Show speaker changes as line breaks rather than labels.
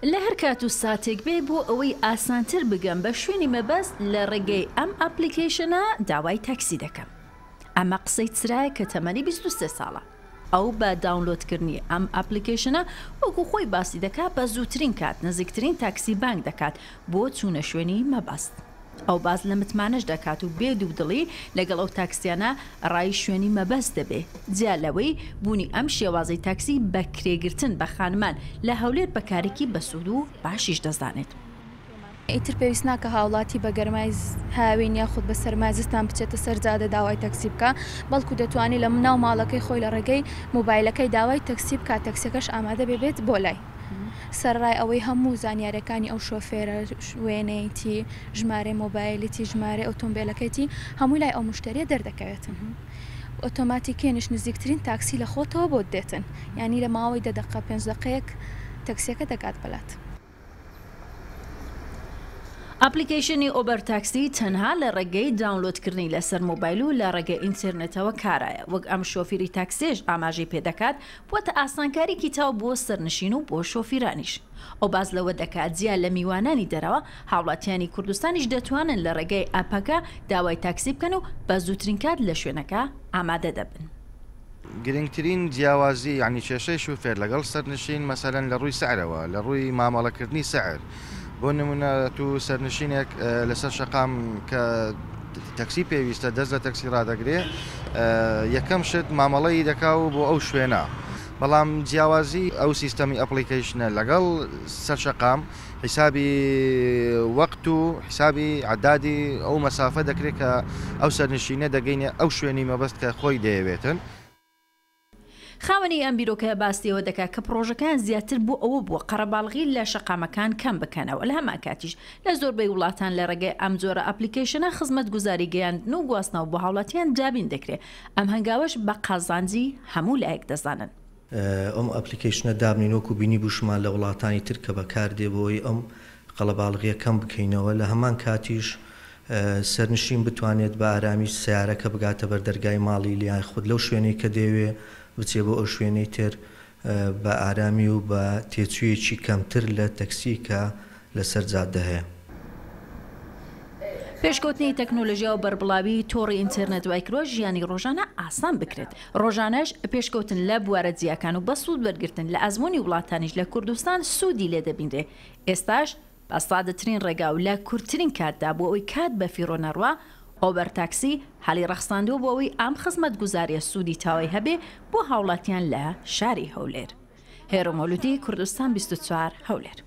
لە هەر کات و ساتێک بێ بۆ ئەوەی ئاسانتر بگەم بە شوێنی مەبەست لە ڕێگەی ئەم ئەپلیکەیشنە داوای تاکسی دەکەم. ئەمە قسەی چرایە کە تەمەنی 23 ساڵە. ئەو بە داونلۆدکردنی ئەم ئەپلیکەیشنە وەکو خۆی باسی دەکات بە زووترین کات نزیکترین تاکسی بانگ دەکات بۆ چوونە شوێنی مەبەست. ئەو باس لە متمانەش دەکات و بێ دوودڵی لەگەڵ ئەو تاکسیانە ڕای شوێنی مەبەست دەبێ. جیا لەوەی بوونی ئەم شێوازەی تاکسی بە کرێگرتن بە خانمان لە هەولێر بە کارێکی بەسوود و باشیش دەزانێت.
ئیتر پێویست ناکا هاوڵاتی بە گەرمای هاوین یاخود بە سەرمای زستان بچێتە سەر جادە داوای تەکسی بکا، بەڵکو دەتوانێت لە ناو ماڵەکەی خۆی لە ڕێگەی مۆبایلەکەی داوای تەکسی بکات، تەکسیەکەش ئامادە بێ بێت بۆ لای. سەرەڕای ئەوەی هەموو زانیاریەکانی ئەو شۆفێرە، وێنەیتی، ژمارەی مۆبایلیتی، ژمارەی ئۆتۆمبێلەکەیتی، هەمووی لای ئەو موشتەریە دەردەکەوێتن. ئۆتۆماتیکیەنیش نزیکترین تاکسی لە خۆتەوە بۆت دێتن. یانی لە ماوەی دە دەقە پێنج دەقەیەک تەکسیەکە دەگات بەلات.
ئەپلیکەیشنی ئۆبەر تاکسی تەنها لە ڕێگەی داونلۆدکردنی لەسەر مۆبایل و لە ڕێگەی ئینتێرنێتەوە کارایە، وەک ئەم شۆفیری تاکسیەش ئاماژەی پێدەکات بووەتە ئاسانکاریکی تاو بۆ سەرنشین و بۆ شۆفیرانیش. ئەو باس لەوە دەکات جیا لە میوانانی دەرەوە، هاوڵاتیانی کوردستانیش دەتوانن لە ڕێگەی ئەپەکە داوای تاکسی بکەن و بە زووترین کات لە شوێنەکە ئامادە دەبن.
گرنگترین جیاوازی یانی کێشەی شوفێر لەگەڵ سەرنشین مەسەلەن لە ڕووی سعرەوە لە ڕووی مامەڵەکردنی سعر بۆ نمونە تو سەرنشینێک لەسەر شەقام کە تەکسی پێویستە دەست لە تەکسی ڕادەگرێ یەکەم شت مامەڵەی دەکا و بۆ ئەو شوێنە بەڵام جیاوازی ئەو سیستەمی ئەپڵیکەیشنە لەگەڵ سەر شەقام حیسابی وەقت و حیسابی عەدادی ئەو مەسافە دەکرێت کە ئەو سەرنشینە دەگەینە ئەو شوێنی مەبەست کە خۆی دەیەوێتن.
خاوەنی ئەم بیرۆکەیە باسی ئەوە دەکات کە پڕۆژەکەیان زیاتر بۆ ئەوە بووە قەرەباڵغی لە شەقامەکان کەم بکەنەوە، لە هەمان کاتیش لە زۆربەی وڵاتان لە ڕێگەی ئەم جۆرە ئەپلیکەیشنە خزمەتگوزاری گەیاندن و گواستنەوە بۆ هاوڵاتیان دابین دەکرێت، ئەم هەنگاوەش بە قازانجی هەموو لایەک دەزانن.
ئەم ئەپلیکەیشنە دابنێین وەکو بینیبووشمان لە وڵاتانی تر کە بەکاردێ بۆ ئەوەی ئەم قەڵەباڵغیە کەم بکەینەوە لە هەمان کاتیش سەرنشین بتوانێت بە ئارامی سەیارەکە بگاتە بەر دەرگای ماڵی یان خود لەو شوێنەی کە دەیەوێ بچێ بۆ ئەو شوێنەی تر بە ئارامی و بە تێچوویەکی کەمتر لە تەکسی کە لەسەر جادە هەیە.
پێشکەوتنی تەکنۆلۆژیا و بەربڵاوی تۆڕی ئینتێرنێت وایکردوە ژیانی ڕۆژانە ئاسان بکرێت، ڕۆژانەش پێشکەوتن لە بوارە جیاکان و بە سوود وەرگرتن لە ئەزموونی وڵاتانیش لە کوردستان سوودی لێ دەبینرێ، ئێستاش بە سادەترین ڕێگا و لە کورتترین کاتدا بۆ ئەوەی کات بەفیڕۆ نەڕوا، ئۆبەر تاکسی هەلی ڕەخساندووە بۆ ئەوەی ئەم خزمەتگوزارییە سوودی تەواوی هەبێ بۆ هاوڵاتیان لە شاری هەولێر. هێرۆ مەولودی، کوردستان 24، هەولێر.